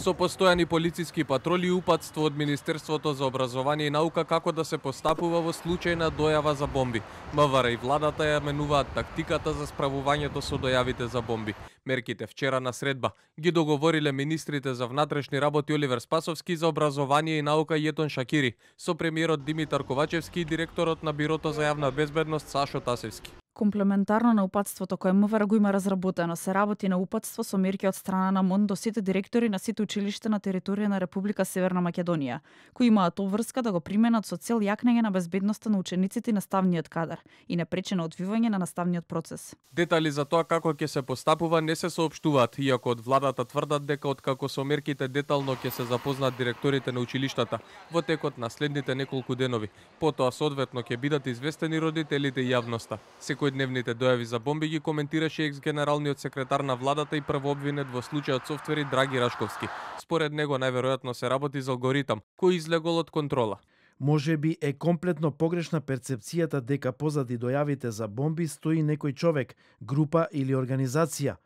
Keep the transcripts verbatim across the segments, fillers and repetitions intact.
Со постојани полициски патроли и упатство од Министерството за образование и наука како да се постапува во случај на дојава за бомби. МВР и владата ја менуваат тактиката за справувањето со дојавите за бомби. Мерките вчера на средба ги договориле министрите за внатрешни работи Оливер Спасовски, за образование и наука Јетон Шакири, со премиерот Димитар Ковачевски и директорот на Бирото за јавна безбедност Сашо Тасевски. Комплементарно на упатството кое МВР го има разработено, се работи на упатство со мерки од страна на МОН до сите директори на сите училишта на територија на Република Северна Македонија, кои имаат обврска да го применат со цел јакнење на безбедноста на учениците и наставниот кадар и непречено одвивање на наставниот процес. Детали за тоа како ќе се постапува не се соопштуваат, иако од владата тврдат дека откако со мерките детално ќе се запознаат директорите на училиштата во текот на следните неколку денови. Потоа соодветно ќе бидат известени родителите и јавноста. Секојдневните дојави за бомби ги коментираше екс-генералниот секретар на владата и првообвинет во случајот софтвери Драги Рашковски. Според него најверојатно се работи за алгоритам кој излегол од контрола. Може би е комплетно погрешна перцепцијата дека позади дојавите за бомби стои некој човек, група или организација.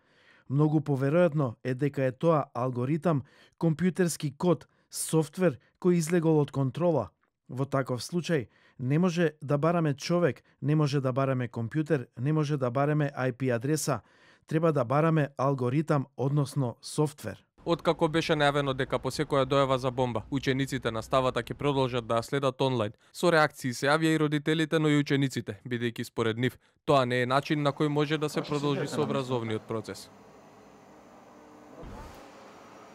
Многу поверојатно е дека е тоа алгоритам, компјутерски код, софтвер кој излегол од контрола. Во таков случај не може да бараме човек, не може да бараме компјутер, не може да бараме ај пи адреса. Треба да бараме алгоритам, односно софтвер. Откако беше најавено дека по секоја дојава за бомба, учениците на ставата ќе продолжат да ја следат онлайн, со реакции се јавија и родителите, но и учениците, бидејќи според нив тоа не е начин на кој може да се продолжи со образовниот процес.